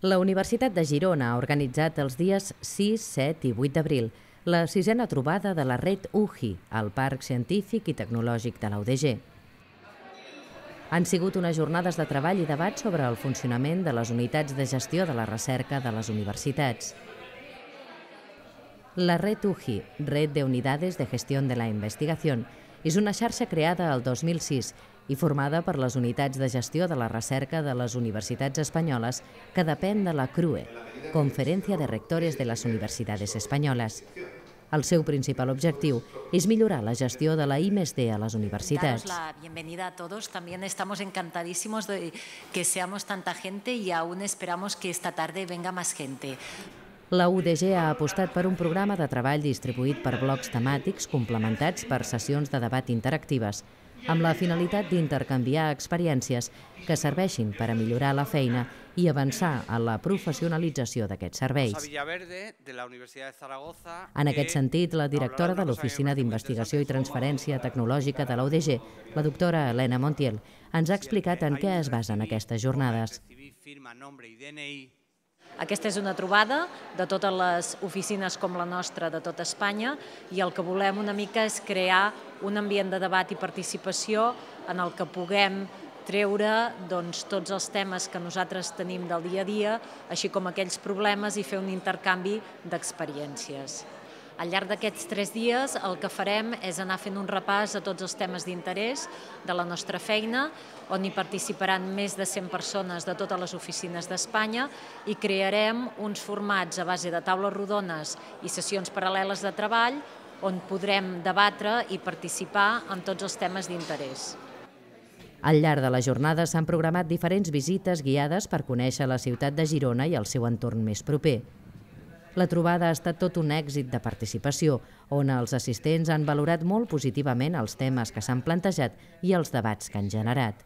La Universitat de Girona ha organitzat els dies 6, 7 i 8 d'abril la sisena trobada de la Red UGI al Parc Científic i Tecnològic de la UDG. Han sigut unes jornades de treball i debat sobre el funcionament de les unitats de gestió de la recerca de les universitats. La Red UGI, Red de Unidades de Gestión de la Investigación, és una xarxa creada el 2006 i formada per les unitats de gestió de la recerca de les universitats espanyoles que depèn de la CRUE, Conferència de Rectores de les Universitats Espanyoles. El seu principal objectiu és millorar la gestió de la I+D a les universitats. Daros la bienvenida a todos. También estamos encantadísimos de que seamos tanta gente y aún esperamos que esta tarde venga más gente. La UDG ha apostat per un programa de treball distribuït per blocs temàtics complementats per sessions de debat interactives, amb la finalitat d'intercanviar experiències que serveixin per a millorar la feina i avançar en la professionalització d'aquests serveis. En aquest sentit, la directora de l'Oficina d'Investigació i Transferència Tecnològica de la UDG, la doctora Elena Montiel, ens ha explicat en què es basen aquestes jornades. Aquesta és una trobada de totes les oficines com la nostra de tota Espanya i el que volem una mica és crear un ambient de debat i participació en el que puguem treure tots els temes que nosaltres tenim del dia a dia, així com aquells problemes i fer un intercanvi d'experiències. Al llarg d'aquests 3 dies el que farem és anar fent un repàs a tots els temes d'interès de la nostra feina, on hi participaran més de 100 persones de totes les oficines d'Espanya i crearem uns formats a base de taules rodones i sessions paral·leles de treball on podrem debatre i participar en tots els temes d'interès. Al llarg de la jornada s'han programat diferents visites guiades per conèixer la ciutat de Girona i el seu entorn més proper. La trobada ha estat tot un èxit de participació, on els assistents han valorat molt positivament els temes que s'han plantejat i els debats que han generat.